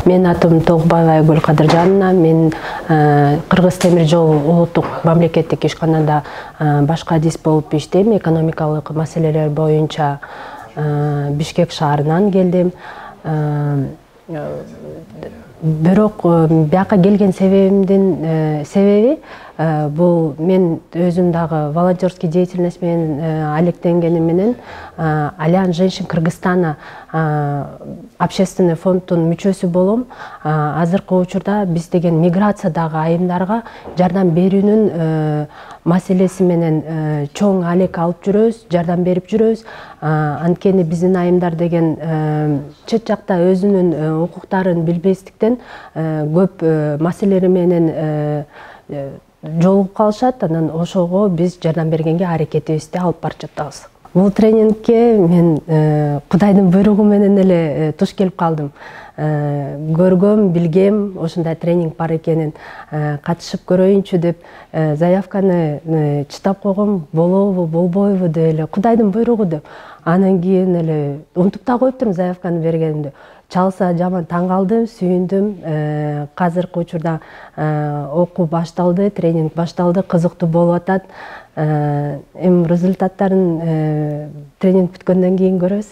Менин атым Тогбаева Айгүл Кадыржановна. Мен Кыргыз темир жол улуттук мамлекеттик ишканада башкы адис болуп иштейм. Экономикалык маселелер боюнча Бишкек шаарынан келдим. Бирок бияка келген себебимдин себеби бул мен өзүм дагы волонтерский деятельность менен алектенгеним менен Альянс женщин Кыргызстана общественный фонддун мүчөсү болом. Азыркы учурда биз деген миграциядагы айымдарга жардам берүүнүн маселеси менен чоң алек алып жүрөбүз, жардам берип жүрөбүз. Анткени биздин айымдар деген чет жакта өзүнүн укуктарын билбестиктен көп маселелер менен жолугуп калышат. Анан ошого биз жардам бергенге аракетибизди алып барып жатабыз. Бул тренингке мен Кудайдын буйругу менен эле туш келип калдым. Көргөм, билгем, ошондой тренинг бар экенин, катышып көрөйүнчү деп заявканы чытап койгом. Болобу, болбойбу деп эле, Кудайдын буйругу деп. Анан кийин эле унутуп да коюптурмун заявканы бергенимди. Чалса жаман таң калдым, сүйүндүм. Азыркы учурда окуу башталды, тренинг башталды, кызыктуу болуп атат. Эми результаттарын тренинг бүткөндөн кийин көрөбүз.